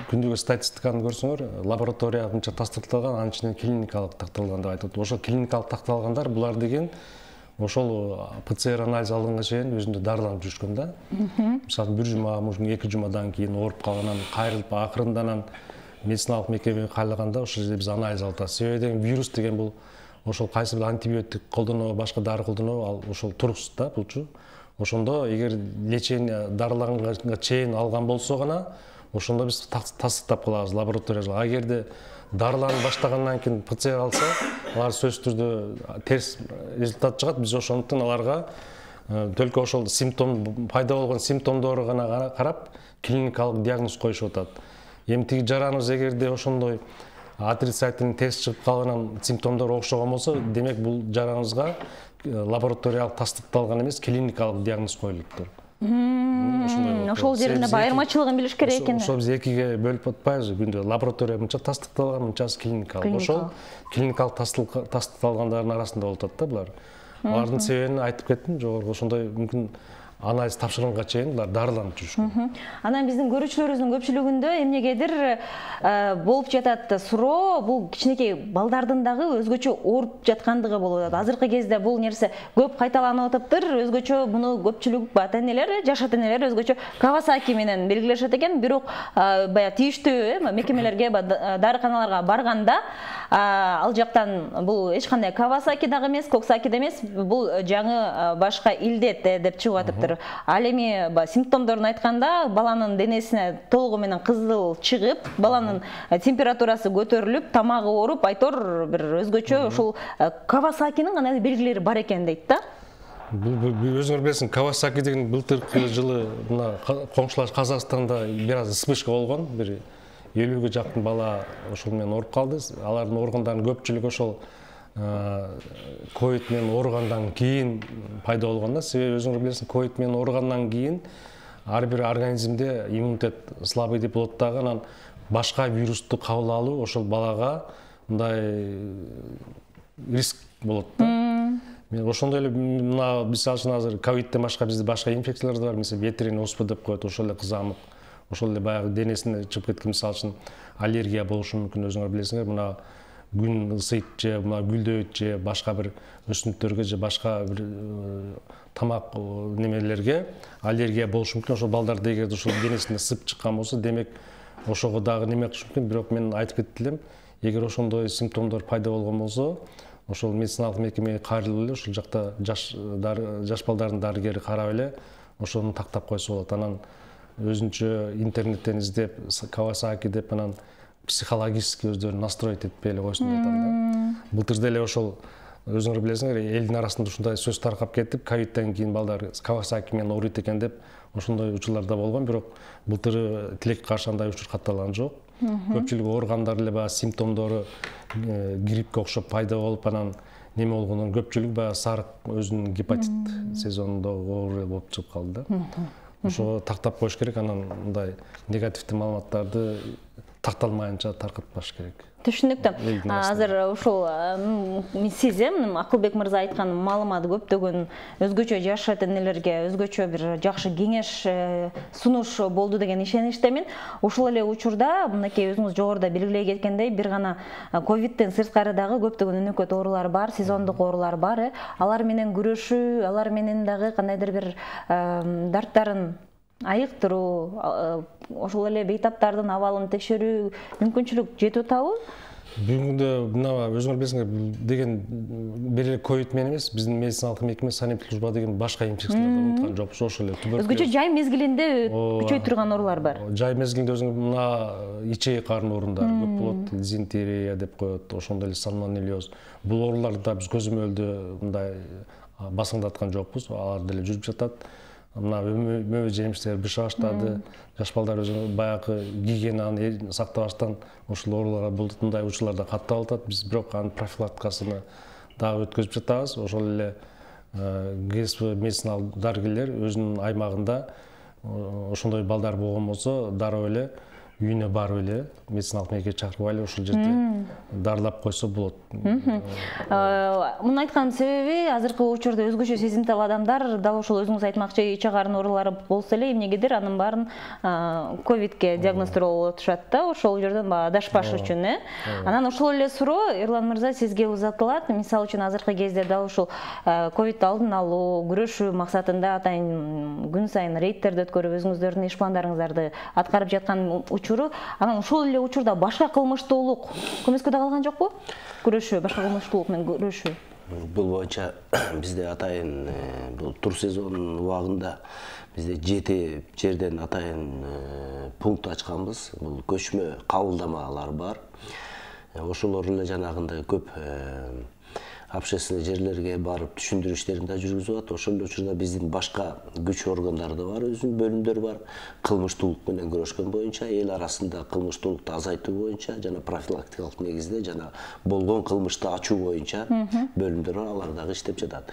күндүгө статистиканы көрсөңөр, лаборатория мынча тастыкталган, анын ичинен клиникалык такталган деп айтып. Ошол клиникалык такталгандар булар деген ошол ПЦР анализ алганга чейин өзүндө дарыланып жүрүшкөн да. Мисалы бир жума, мүмкүн эки жумадан кийин ооруп калгандан кайрылып акырындан медициналык мекемеге кайрылганда ошол жерде биз анализ алып атабыз. Себеби деген вирус деген бул ошол кайсы бир антибиотик колдонобу, башка дары колдонобу, ал ошол туруксуз да булчу. Ошондо эгер лечение дарылаганга чейин алган болсо гана ошондо биз тастыктап калабыз лабораторияга. А эгерде дарыланып баштагандан кийин ПЦР алса, алар сөзсүз түрдө терс результат чыгат. Биз ошондуктан аларга только ошол симптом пайда болгон симптомдору гана карап клиникалык диагноз коюшуп атат. Эми тиги жараныбыз эгерде ошондой отрицательный тест чыгып калганан симптомдор окшогон болсо, демек бул жараныбызга лабораториялык тастыкталган эмес, клиникалык диагноз коюлуптур. Ошол жеринде айырмачылыгын билиш керек экен. Ошол биз экиге бөлүп атпайбызбы? Күндө лаборатория мынча тастыкталган, мынчасы клиникалык. Ошол клиникалык тастыкталгандардын арасында болуп атат да булар. Алардын себебин айтып кеттим, жогору ошондой мүмкүн анализ тапшырганга чейин булар дарыланып жүрүшкөн. Анан биздин көрүүчүлөрүбүздүн көпчүлүгүндө эмнегедир болуп жатат суроо, бул кичинекей балдардын дагы өзгөчө ооруп жаткандыгы болуп атат. Азыркы кезде бул нерсе көп кайталанып атыптыр. Өзгөчө муну көпчүлүк ата-энелер, жаш ата-энелер өзгөчө Кавасаки менен белгилешет экен. Бирок баягы тийиштүү мекемелерге, дарыканаларга барганда ал жактан бул эч кандай Кавасаки дагы эмес, Коксаки да эмес, бул жаңы башка илдет деп чыгып атыптыр. кандайдыр. Ал эми симптомдорун айтканда, баланын денесине толугу менен кызыл чыгып, баланын температурасы көтөрүлүп, тамагы ооруп, айтор бир өзгөчө ушул Кавасакинин кандайдыр белгилери бар экен дейт да. Өзүңөр билесиң, Кавасаки деген былтыркы жылы мына коңшулаш Казакстанда бир аз вспышка болгон, бир элүүгө жакын бала ошол менен ооруп калды. Алардын ооругандарынын көпчүлүгү ошол ковид менен ооругандан кийин пайда болгон да. Себеби өзүңөр билесиң, ковид менен ооругандан кийин ар бир организмде иммунитет слабый деп болот дагы, анан башка вирусту кабыл алуу ошол балага мындай риск болот да. Мен ошондой эле мына мисалы үчүн азыр ковидден башка бизде башка инфекциялар да бар, мисалы ветеринный оспа деп коет, ошол эле кызамык, ошол эле баягы денесине чыгып кеткен, мисалы үчүн аллергия болушу мүмкүн. Өзүңөр билесиңер, мына күн ысыйт же мына гүлдөйт же башка бир өсүмдүктөргө же башка бир тамак немелерге аллергия болушу мүмкүн. Ошол балдарда эгерде ошол денесине сып чыккан болсо, демек ошого дагы неме кылышы мүмкүн. Бирок мен айтып кетти элем, эгер ошондой симптомдор пайда болгон болсо, ошол медициналык мекемеге кайрылып эле ошол жакта жаш жаш балдардын дарыгери карап эле ошону тактап койсо болот. Анан өзүнчө интернеттен издеп Кавасаки деп анан психологически өздөрүн настроить этпей эле койсун деп атам да. Былтыр деле ошол өзүңөр билесиңер, элдин арасында ушундай сөз таркап кетип, ковидден кийин балдар Кавасаки менен ооруйт экен деп ошондой учурлар да болгон, бирок былтыр тилекке каршы андай учур катталган жок. Көпчүлүк ооругандар эле баягы симптомдору гриппке окшоп пайда болуп, анан неме болгондон көпчүлүк баягы сарык өзүнүн гепатит сезонунда оору болуп чыгып калды да. Ошого тактап коюш керек, анан мындай негативдүү маалыматтарды такталмайынча таркатпаш керек. Түшүнүктүү. Азыр ушул сиз Акылбек мырза айткан маалымат көптөгөн өзгөчө жашат энелерге өзгөчө бир жакшы кеңеш сунуш болду деген ишеничтемин. Ушул эле учурда мынакей өзүңүз жогоруда белгилей кеткендей, бир гана ковидден сырткары дагы көптөгөн өнөкөт оорулар бар, сезондук оорулар бар. Алар менен күрөшүү, алар менен дагы кандайдыр бир дарттарын айыктыруу, ошол эле бейтаптардын абалын текшерүү мүмкүнчүлүк жетип атабы? Бүгүнкү күндө мына өзүңөр билесиңер деген бир эле ковид менен эмес, биздин медициналык мекеме санитарлык служба деген башка инфекцияларды унуткан жокпуз. Ошол эле туберкулез. Өзгөчө жай мезгилинде күчөй турган оорулар бар. Жай мезгилинде өзүңөр мына ичек карын оорундар көп болот, дизентерия деп коет, ошондой эле сальмонеллез. Бул ооруларды да биз көзөмөлдө мындай басыңдаткан жокпуз, алар деле жүрүп жатат. Мына мөбө жемиштер быша баштады, жаш балдар өзү баягы гигиенаны сактабастан ушул ооруларга мындай учурларда каттап атат. Биз бирок анын профилактикасыны дагы өткөзүп жатабыз. Ошол эле ГСП медициналык дарыгерлер өзүнүн аймагында ошондой балдар болгон болсо, дароо эле үйүнө барып эле медициналык мекемеге чакырып алып ошол жерде дарылап койсо болот. Муну айтканын себеби азыркы учурда өзгөчө сезимтал адамдар дал ошол өзүңүз айтмакчы ичек карын оорулары болсо эле эмнегедир анын баарын ковидке диагностировать атышат да, ошол жерден баягы адашпаш үчүн, э. Анан ошол эле суроо Эрлан мырза сизге узатылат. Мисалы үчүн азыркы кезде дал ушул ковидди алдын алуу, күрөшүү максатында атайын күн сайын рейдтерди өткөрүп өзүңүздөрдүн иш пландарыңыздарды аткарып жаткан учуру, анан ушул эле учурда башка кылмыштуулук көмөскө да калган жокпу? Күрөшүү, башка кылмыштуулук менен күрөшүү. Бул боюнча бизде атайын бул тур сезонунун убагында бизде жети жерден атайын пункт ачканбыз. Бул көчмө кабылдамалар бар. Ошолор эле жанагындай көп общественный жерлерге барып түшүндүрүү иштерин да жүргүзүп атат. Ошол эле учурда биздин башка күч органдары да бар, өзүнүн бөлүмдөр бар. Кылмыштуулук менен күрөшкөн боюнча, эл арасында кылмыштуулукту азайтуу боюнча жана профилактикалык негизде жана болгон кылмышты ачуу боюнча бөлүмдөр бар, алар дагы иштеп жатат.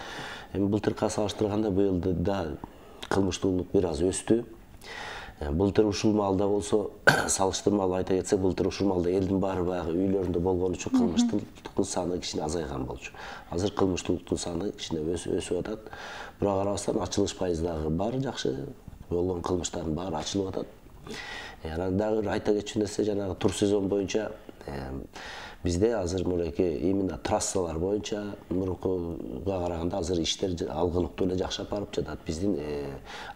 Эми былтыркыга салыштырганда быйыл да кылмыштуулук бир аз өстү. Былтыр ушул маалда болсо, салыштырмалуу айта кетсек, былтыр ушул маалда элдин баары баягы үйлөрүндө болгон үчүн кылмыштуулуктун саны кичине азайган болчу. Азыр кылмыштуулуктун саны кичине өсүп атат. Бирок карабастан ачылыш пайызы дагы бар, жакшы болгон кылмыштардын баары ачылып атат. Анан дагы айта кетчү нерсе жанагы тур сезон боюнча бизде азыр мынакей именно трассалар боюнча мурункуга караганда азыр иштер алгылыктуу эле жакшап барып жатат. Биздин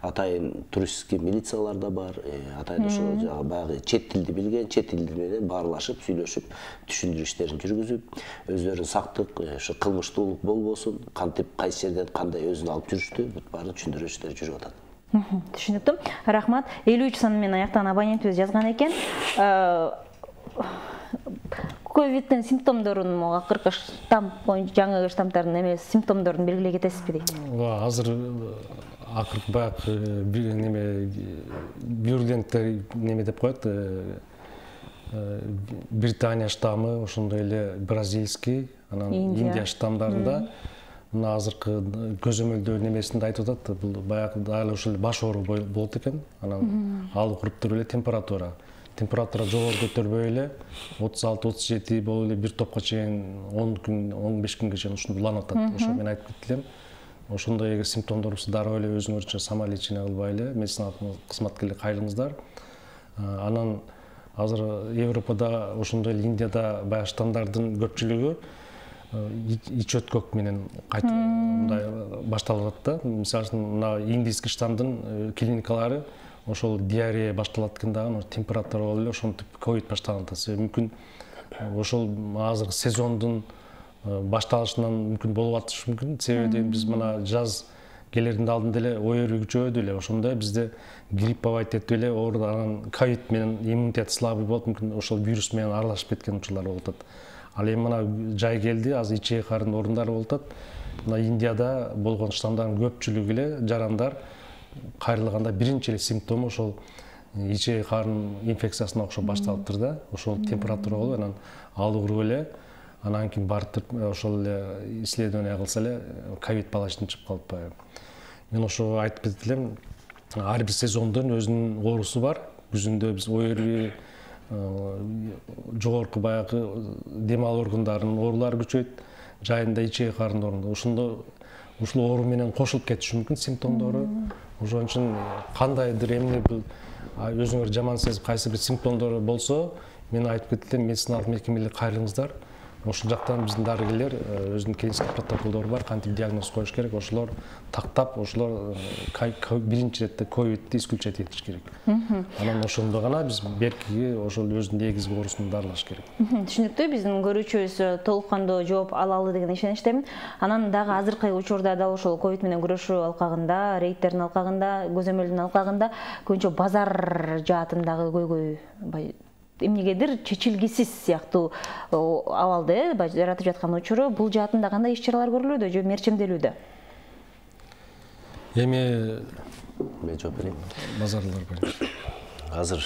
атайын туристский милициялар да бар. Атайын ошол баягы чет тилди билген, чет тилди менен баарлашып, сүйлөшүп, түшүндүрүү иштерин жүргүзүп, өзлөрүнүн сактык, ошо кылмыштуулук болбосун, кантип кайсы жерден кандай өзүн алып жүрүштү, бүт баарын түшүндүрүү иштери жүрүп атат. Түшүнүктүү. Рахмат. элүү үч сан менен аяктаган абонентибиз жазган экен. Ковидтин симптомдорун акыркы штамп боюнча жаңы штамптардын эмес симптомдорун белгилей кетесизби дейт. Азыр акыркы баягы неме вируленттер неме деп коет. Британия штаммы, ошондой эле бразильский, анан Индия штамдарында мына азыркы көзөмөлдөө немесинде айтып атат, бул баягы дагы ошол баш оору болот экен. Анан ал куруп туруп эле температура. Температура жогору көтөрбөй эле отуз алты отуз жети болуп эле бир топко чейин он күн он беш күнгө чейин ушундай уланып атат. Ошо мен айтып кетти элем. Ошондой эгер симптомдор болсо дароо эле өзүңөрчө самолечение кылбай эле медициналык кызматкерлерге кайрылыңыздар. Анан азыр Европада ошондой эле Индияда баягы штамдардын көпчүлүгү ич өткөк менен кайтып мындай башталып атат да. Мисалы үчүн мына индийский штамдын клиникалары ошол диарея башталат экен дагы, температура болуп эле ошентип ковид башталган да. Себеби мүмкүн ошол азыркы сезондун башталышынан мүмкүн болуп атышы мүмкүн. Себеби биз мына жаз келердин алдында эле ой өрүү күчөдү эле. Ошондо бизде грипповать этип эле ооруп анан ковид менен иммунитет слабый болуп мүмкүн ошол вирус менен аралашып кеткен учурлар болуп атат. Ал эми мына жай келди, азыр ичеги карын орундары болуп атат. Мына Индияда болгон штамдардын көпчүлүгү эле жарандар кайрылганда биринчи эле симптому ошол ичеги карын инфекциясына окшоп башталыптыр да. Ошол температура болуп, анан ал уруп эле, анан кийин барып ошол эле исследование кылса эле ковид балачынан чыгып калып. Мен ошо айтып кетет элем, ар бир сезондун өзүнүн оорусу бар. Күзүндө биз ой өрүү, жогорку баягы дем алуу органдарынын оорулары күчөйт, жайында ичеги карын оорунда. Ошондо ушул оору менен кошулуп кетиши мүмкүн симптомдору. Ошон үчүн кандайдыр эмне бул өзүңөр жаман сезип кайсы бир симптомдор болсо, мен айтып кетет элем, медициналык мекемелерге кайрылыңыздар. Ошол жактан биздин дарыгерлер өзүнүн клиникалык протоколдору бар, кантип диагноз коюш керек, ошолор тактап, ошолор биринчи иретте ковидти исключать этиш керек. Анан ошондо гана биз беркиги ошол өзүнүн негизги оорусун дарылаш керек. Түшүнүктүү, биздин көрүүчүбүз толук кандуу жооп ала алды деген ишеничтемин. Анан дагы азыркы учурда да ошол ковид менен күрөшүү алкагында, рейдтердин алкагында, көзөмөлдүн алкагында көбүнчө базар жаатындагы көйгөй эмнегедир чечилгисиз сыяктуу абалды жаратып жаткан учуру, бул жаатында кандай иш чаралар көрүлүүдө же мерчемделүүдө? Эми мен жооп берейин. Базарлар боюнча. Азыр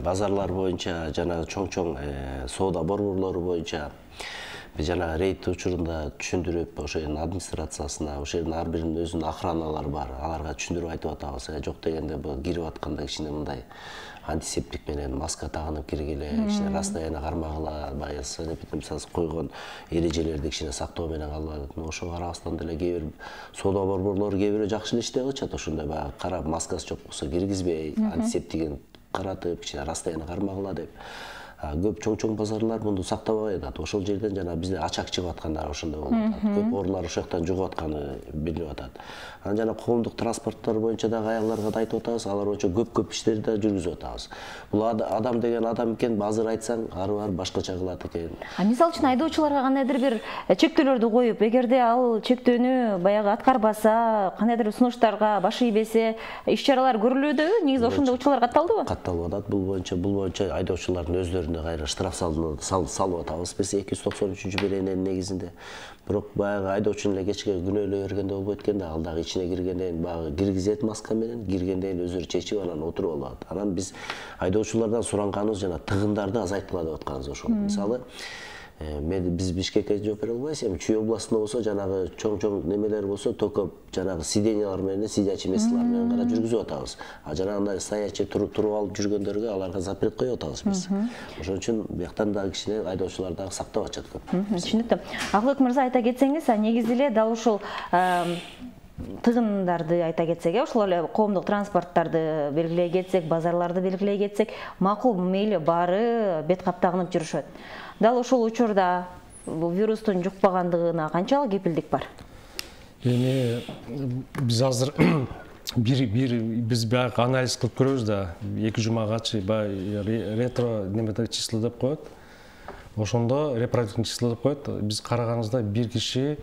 базарлар боюнча жана чоң-чоң соода борборлору боюнча биз жана рейд учурунда түшүндүрүп, ошо жердин администрациясына, ошо жердин ар биринин өзүнүн охраналары бар, аларга түшүндүрүп айтып атабыз. Жок дегенде бул кирип атканда кичине мындай антисептик менен маска тагынып киргиле, кичине расстояние кармагыла, баягы санэпидемиясы койгон эрежелерди кичине сактоо менен калгыла. Ошого карабастан деле кээ бир соода борборлору кээ бирөө жакшы эле иштеп атышат. Ошондой баягы карап, маскасы жок болсо киргизбей, антисептигин каратып, кичине расстояние кармагыла деп. Көп чоң-чоң базарлар мунду сактабай атат. Ошол жерден жана бизде ачак чыгып аткандар ошондой болуп атат. Көп оорулар ошол жактан жугуп атканы билинип атат. Анан жана коомдук транспорттор боюнча дагы аялдарга да айтып атабыз, алар боюнча көп-көп иштерди да жүргүзүп атабыз. Бул адам деген адам экен, азыр айтсаң, ары бар башкача кылат экен. А мисалы үчүн айдоочуларга кандайдыр бир чектөөлөрдү коюп, эгерде ал чектөөнү баягы аткарбаса, кандайдыр сунуштарга баш ийбесе, иш чаралар көрүлүүдө, негизи ошондой учурлар катталдыбы? Катталып атат. Бул боюнча, бул боюнча айдоочулардын өзлөрүнө кайра штраф салып атабыз. Биз эки жүз токсон үчүнчү берененин негизинде. Бирок баягы айдоочунун эле кечке күнөөлөй бергенде болбойт экен да, ал дагы ичине киргенден баягы киргизет маска менен, киргенден өзүрү чечип анан отуруп алат. Анан биз айдоочулардан суранганыбыз жана тыгындарды азайткыла деп атканыбыз ошол. Мисалы, биз Бишкекке жооп бере албайбыз, эми Чүй областында болсо жанагы чоң-чоң немелер болсо только жанагы сиденьялар менен, сидячий месталар менен гана жүргүзүп атабыз. А жанагындай стоячий туруп алып жүргөндөргө аларга запрет коюп атабыз биз. Ошон үчүн бияктан дагы кичине айдоочулар дагы сактап атышат көп. Түшүнүктүү. Акылбек мырза, айта кетсеңиз, негизи эле дал ушул тыгындарды айта кетсек, ошол эле коомдук транспорттарды белгилей кетсек, базарларды белгилей кетсек, макул мейли баары бет каптагынып жүрүшөт. Дал ошол учурда бул вирустун жукпагандыгына канчалык кепилдик бар? Эми биз азыр бир бир биз баягы анализ кылып көрөбүз да, эки жумагачы баягы ретро немеде число деп коет. Ошондо репродуктивдик число деп коет. Биз караганыбызда бир киши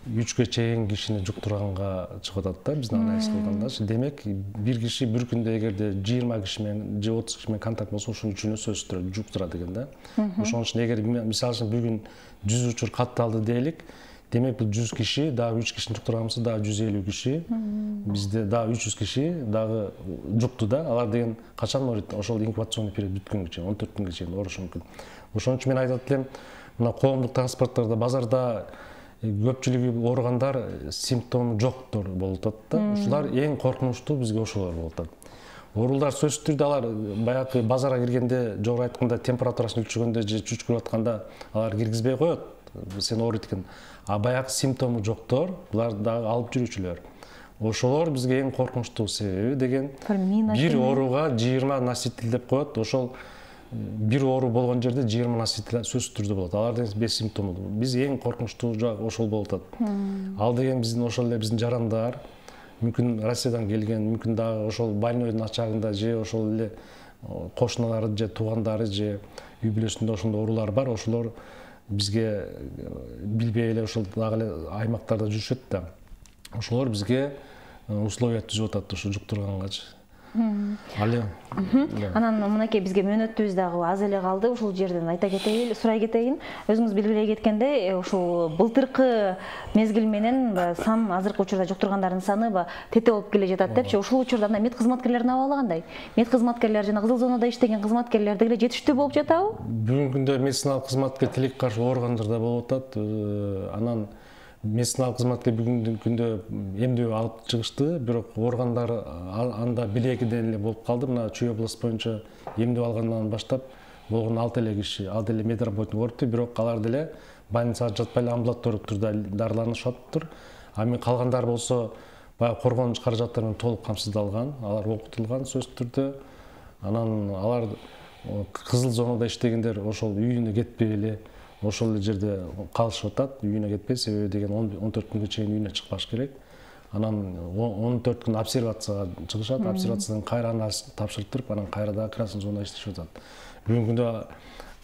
үчкө чейин кишини жуктурганга чыгып атат да, биздин анализ кылгандачы. Демек, бир киши бир күндө эгерде жыйырма киши менен же отуз киши менен контакт болсо, ошонун үчүнө сөзсүз жуктурат экен да. Ошон үчүн эгер мисалы үчүн бүгүн жүз учур катталды дейлик, демек бул жүз киши дагы үч кишини жуктурганбыз, дагы жүз элүү киши, бизде дагы үч жүз киши дагы жукту да. Алар деген качан ооруйт? Ошол инкубационный период бүткөнгө чейин, он төрт күнгө чейин оорушу мүмкүн. Ошон үчүн мен айтат элем, мына коомдук транспорттордо, базарда көпчүлүгү ооругандар симптому жоктор болуп атат да. Ушулар эң коркунучтуу бизге ошолор болуп атат. Оорулар сөзсүз түрдө алар баягы базарга киргенде, жогору айтканда температурасын өлчөгөндө же чүчкүрүп атканда алар киргизбей коет, сен ооруйт экен. А баягы симптому жоктор, булар дагы алып жүрүүчүлөр. Ошолор бизге эң коркунучтуу, себеби деген бир ооруга жыйырма носитель деп коет. Ошол бир оору болгон жерде жыйырма носитель сөзсүз түрдө болот. Алар деген бессимптомдуу. Биз эң коркунучтуу жагы ошол болуп атат. Ал деген биздин ошол эле биздин жарандар, мүмкүн Россиядан келген, мүмкүн дагы ошол больнойдун ачагында же ошол эле кошуналары же туугандары же үй бүлөсүндө ошондой оорулар бар. Ошолор бизге билбей эле ошол дагы эле аймактарда жүрүшөт да. Ошолор бизге условия түзүп атат ошо жуктургангачы. Алы. Анан мынакей бизге мөөнөтүбүз дагы аз эле калды. Ушул жерден айта кетейин, сурай кетейин. Өзүңүз белгилей кеткендей, ушул былтыркы мезгил менен сан азыркы учурда жуктургандардын саны тете болуп келе жатат депчи. Ушул учурда мед кызматкерлеринин абалы кандай? Мед кызматкерлери жана кызыл зонада иштеген кызматкерлер деле жетиштүү болуп жатабы? Бүгүнкү күндө медициналык кызматка тилекке каршы ооругандар да болуп атат. Анан медициналык кызматкер бүгүнкү күндө эмдөө алып чыгышты, бирок ооругандар анда бир экиден эле болуп калды. Мына Чүй область боюнча эмдөө алгандан баштап болгон алты эле киши, ал деле медработник оорупту, бирок алар деле больницага жатпай эле амбулатордук түрдө дарыланышаттыр. А эми калгандар болсо баягы коргонуч каражаттары менен толук камсыздалган, алар окутулган сөзсүз түрдө. Анан алар кызыл зонада иштегендер ошол үйүнө кетпей эле ошол жерде калышып атат, үйүнө кетпей, себеби деген он төрт күнгө чейин үйүнө чыкпаш керек. Анан он төрт күн обсервацияга чыгышат, обсервациядан кайра анализ тапшырып туруп, анан кайра дагы красный зонада иштешип атат. Бүгүнкү күндө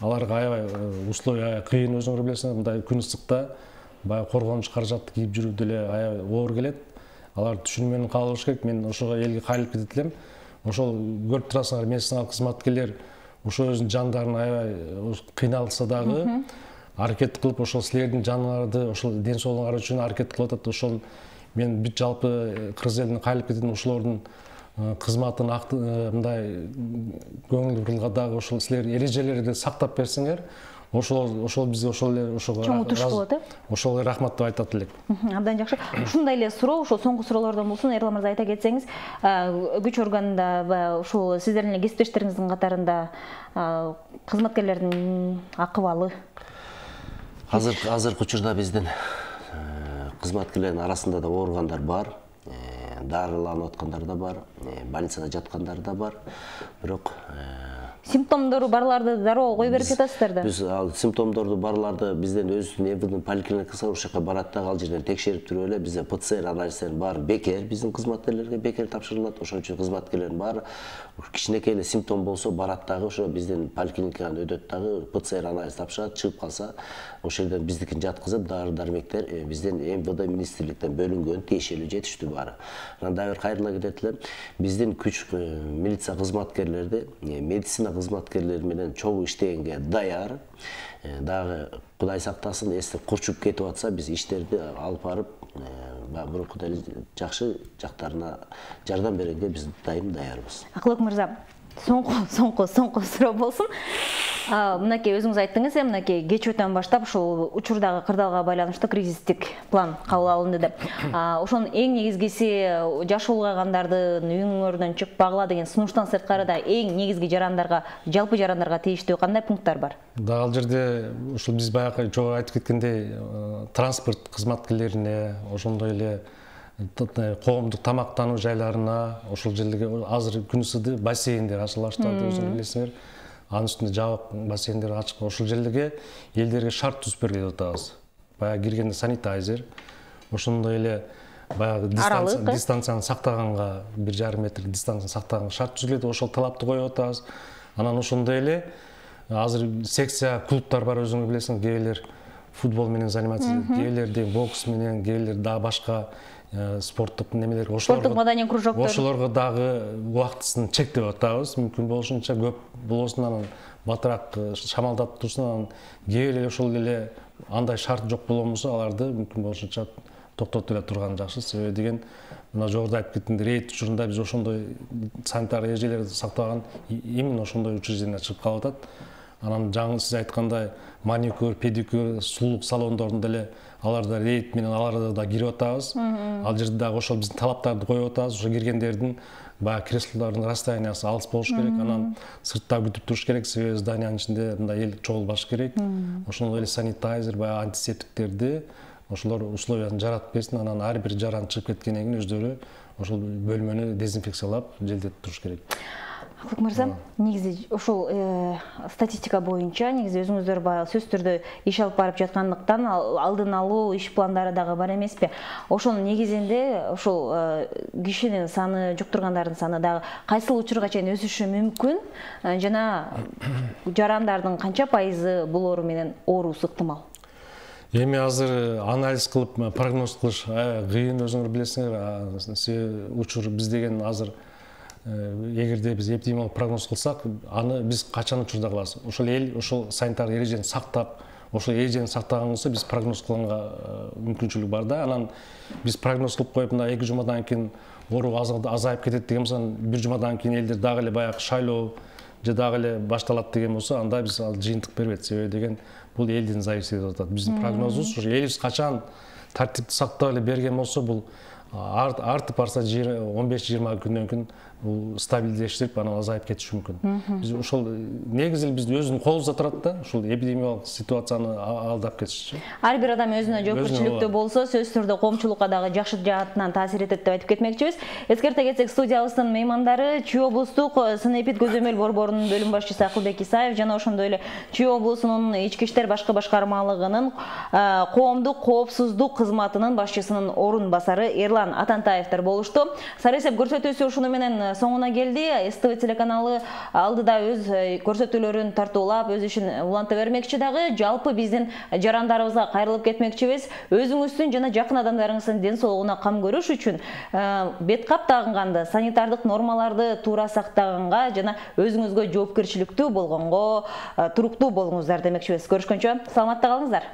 аларга аябай условия кыйын, өзүңөр билесиңер, мындай күн ысыкта баягы коргонуч каражатты кийип жүрүү деле аябай оор келет. Алар түшүнүү менен кабыл алыш керек. Мен ошого элге кайрылып кетет элем. Ошол көрүп турасыңар, медициналык кызматкерлер ошо өзүнүн жандарын аябай кыйналса дагы аракет кылып, ошол силердин жаныңарды, ошол ден соолугуңар үчүн аракет кылып атат. Ошол мен бүт жалпы кыргыз элине кайрылып кетем, ошолордун кызматын мындай көңүл бурулга дагы ошол силер эрежелерди сактап берсеңер, ошол ошол бизге ошол эле ошого чоң утуш болот, э? Ошол эле рахмат деп айтат элек. Абдан жакшы. Ушундай эле суроо, ошол соңку суроолордон болсун, Эрлан мырза айта кетсеңиз, күч органында ушул сиздердин эле кесиптештериңиздин катарында кызматкерлердин акыбалы? Азыр азыркы учурда биздин кызматкерлердин арасында да ооругандар бар, дарыланып аткандар да бар, больницада жаткандар да бар. Бирок симптомдору барларды дароо кой берип жатасыздар да? Биз ал симптомдорду барларды бизден өзүбүздүн ЭВДин поликлиникасына ошол жака барат да, ал жерден текшерип туруп эле бизде ПЦР анализдерин баары бекер, биздин кызматкерлерге бекер тапшырылат. Ошон үчүн кызматкерлердин баары кичинекей эле симптом болсо барат дагы ошо биздин поликлиникадан өтөт дагы, ПЦР анализ тапшырат, чыгып калса ошол жерден биздикин жаткызып, дары дармектер биздин МВД министрликтен бөлүнгөн, тиешелүү, жетиштүү баары. Анан дагы бир кайрыла кетет элем, биздин күч милиция кызматкерлерди медицина кызматкерлери менен чогуу иштегенге даяр. Дагы Кудай сактасын, эстеп курчуп кетип атса, биз иштерди алып барып, мурункудай жакшы жактарына жардам бергенге биз дайым даярбыз. Акылбек мырза, соңку соңку соңку суроо болсун. Мынакей өзүңүз айттыңыз, мынакей кечөөтөн баштап ушул учурдагы кырдаалга байланыштуу кризистик план кабыл алынды деп. Ошонун эң негизгиси жашы улгайгандардын үйүңөрдөн чыкпагыла деген сунуштан сырткары да эң негизги жарандарга, жалпы жарандарга тийиштүү кандай пункттар бар? Да, ал жерде ушул биз баягы жогору айтып кеткендей, транспорт кызматкерлерине, ошондой эле коомдук тамактануу жайларына, ошол жерлерге азыр күн ысыды бассейндер ачыла баштады, өзүңөр билесиңер. Анын үстүндө жабык бассейндер ачык. Ошол жерлерге элдерге шарт түзүп берди деп атабыз. Баягы киргенде санитайзер, ошондой эле баягы дистанцияны сактаганга, бир жарым метр дистанцияны сактаганга шарт түзүлөт, ошол талапты коюп атабыз. Анан ошондой эле азыр секция клубтар бар, өзүңөр билесиңер, кээбилер футбол менен заниматься этет, кээбилерде бокс менен, кээбилер дагы башка спорттук немелер, спорттук маданий кружоктор. Ошолорго дагы убактысын чектеп атабыз. Мүмкүн болушунча көп болосун, анан батыраак шамалдап турсун, анан кээбир эле ошол эле андай шарт жок болбосо аларды мүмкүн болушунча токтотуп эле турган жакшы. Себеби деген мына жогоруда айтып кеттимде, рейд учурунда биз ошондой санитар эрежелерди сактаган именно ошондой учреждение чыгып калып атат. Анан жаңы сиз айткандай маникюр, педикюр, сулуулук салондорунда эле аларда рейд менен аларда да кирип атабыз. Ал жерде дагы ошол биздин талаптарды коюп атабыз. Ошо киргендердин баягы креслолордун расстояниясы алыс болуш керек, анан сыртта күтүп туруш керек, себеби зданиянын ичинде мындай эл чогулбаш керек. Ошондой эле санитайзер, баягы антисептиктерди ошолор условиясын жаратып берсин, анан ар бир жаран чыгып кеткенден кийин өздөрү ошол бөлмөнү дезинфекциялап желдетип туруш керек. Акылбек мырза, негизи ошол статистика боюнча негизи өзүңүздөр баягы сөзсүз түрдө иш алып барып жаткандыктан алдын алуу иш пландары дагы бар эмеспи? Ошонун негизинде ошол кишинин саны, жуктургандардын саны дагы кайсыл учурга чейин өсүшү мүмкүн жана жарандардын канча пайызы булоору менен ооруусу ыктымал? Эми азыр анализ кылып прогноз кылыш кыйын, өзүңөр билесиңер. Учур биз деген азыр эгерде биз эпидемиологик прогноз кылсак, аны биз качан учурда кылабыз? Ошол эл ошол санитар эрежени сактап, ошол эрежени сактаган болсо биз прогноз кылганга мүмкүнчүлүк бар да. Анан биз прогноз кылып коюп, мына эки жумадан кийин оору азайып кетет деген болсо, бир жумадан кийин элдер дагы эле баягы шайлоо же дагы эле башталат деген болсо, анда биз ал жыйынтык бербейт. Себеби деген бул элдин зависит этип атат. Биздин прогнозубуз ушу элибиз качан тартипти сактап эле берген болсо, бул артып барса он беш жыйырма күндөн кийин бул стабилдешип, анан азайып кетиши мүмкүн. Биз ошол негизи биз өзүнүн колубузда турат да, ушул эпидемиологик ситуацияны алдап кетишчи. Ар бир адам өзүнө жоопкерчиликтүү болсо, сөзсүз түрдө коомчулукка дагы жакшы жаатынан таасир этет деп айтып кетмекчибиз. Эскерте кетсек, студиябыздын меймандары Чүй облустук Сын-Эпид көзөмөл борборунун бөлүм башчысы Акылбек Исаев жана ошондой эле Чүй облусунун ички иштер башкы башкармалыгынын коомдук коопсуздук кызматынын башчысынын орун басары Эрлан Атантаевдер болушту. Сарысеп көрсөтүүсү ушуну менен соңуна келди. СТВ телеканалы алдыда өз көрсөтүүлөрүн тартуулап, өз ишин уланта бермекчи дагы. Жалпы биздин жарандарыбызга кайрылып кетмекчибиз. Өзүңүздүн жана жакын адамдарыңыздын ден соолугуна кам көрүш үчүн бет кап тагынганды, санитардык нормаларды туура сактаганга жана өзүңүзгө жоопкерчиликтүү болгонго туруктуу болуңуздар демекчибиз. Көрүшкөнчө саламатта калыңыздар.